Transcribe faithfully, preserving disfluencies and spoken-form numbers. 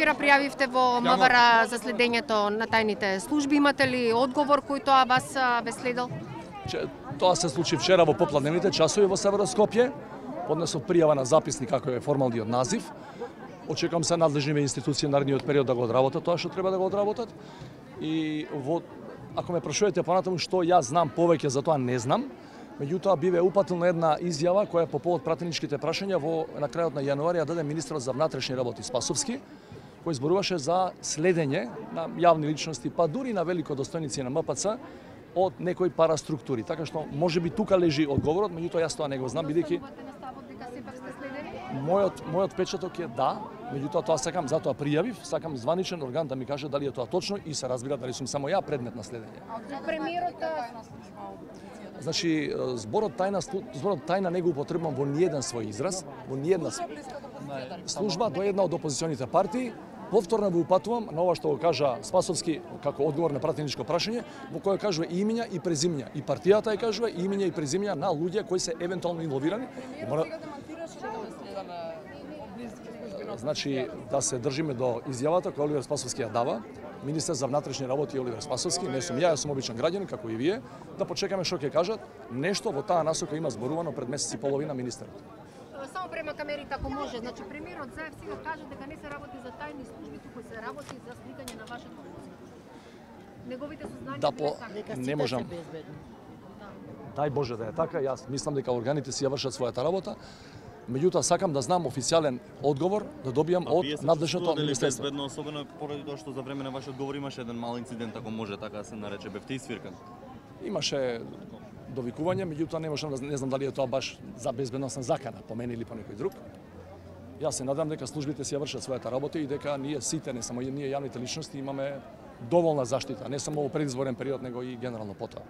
вчера пријавивте во МВР за следењето на тајните служби, имате ли одговор кој тоа вас ве следел? Тоа се случи вчера во попладневните часови во Северо Скопје. Поднесов пријава на записник како е формалниот назив. Очекувам се надлежните институции на наредниот период да го одработат тоа што треба да го одработат. И во ако ме прашувате понатаму што јас знам повеќе за тоа не знам. Меѓутоа биве упатилна една изјава која по повод пратеничките прашања во на крајот на јануари ја даде министерот за внатрешни работи Спасовски, кој зборуваше за следење на јавни личности, па дури на великодостојници на М П Ц од некои параструктури. Така што можеби тука лежи одговорот, меѓутоа јас тоа не го знам бидејќи мојот мојот печаток е да, меѓутоа тоа сакам, затоа пријавив, сакам званичен орган да ми каже дали е тоа точно и се разбира дали сум само ја предмет на следење. Премиерот Значи, зборот тајна, зборот тајна не го употребувам во ниеден свој израз, во ниедна служба до една од опозиционите партии. Повторно го упатувам на ова што го кажа Спасовски како одговор на пратеничко прашање, во кој кажува и имиња и презимиња. И партијата ја кажува и имиња и презимиња на луѓе кои се евентуално инволвирани. Значи, да се држиме до изјавата која Оливер Спасовски ја дава. Министер за внатрешни работи Оливер Спасовски, не сум ја, јас сум обичен граѓанин како и вие, да почекаме што ќе кажат. Нешто во таа насока има зборувано пред месец и половина министерот. Само према камерите ако може, значи премиерот Заев сега кажа дека не се работи за тајни служби, туку се работи за сликање на вашето возило. Неговите сознанија да, по... не можам. Дај Боже да е така, јас мислам дека органите си ја вршат својата работа. Меѓутоа сакам да знам официјален одговор да добијам од надлежното министерство. Безбедно, особено поради тоа што за време на вашиот одговор имаше еден мал инцидент, ако може така да се нарече, бевте исвиркан. Имаше довикување, меѓутоа не можам да не знам дали е тоа баш за безбедносна закана по мене или по некој друг. Јас се надам дека службите си ја вршат својата работа и дека ние сите, не само ние јавните личности, имаме доволна заштита, не само во предизборен период, него и генерално потоа.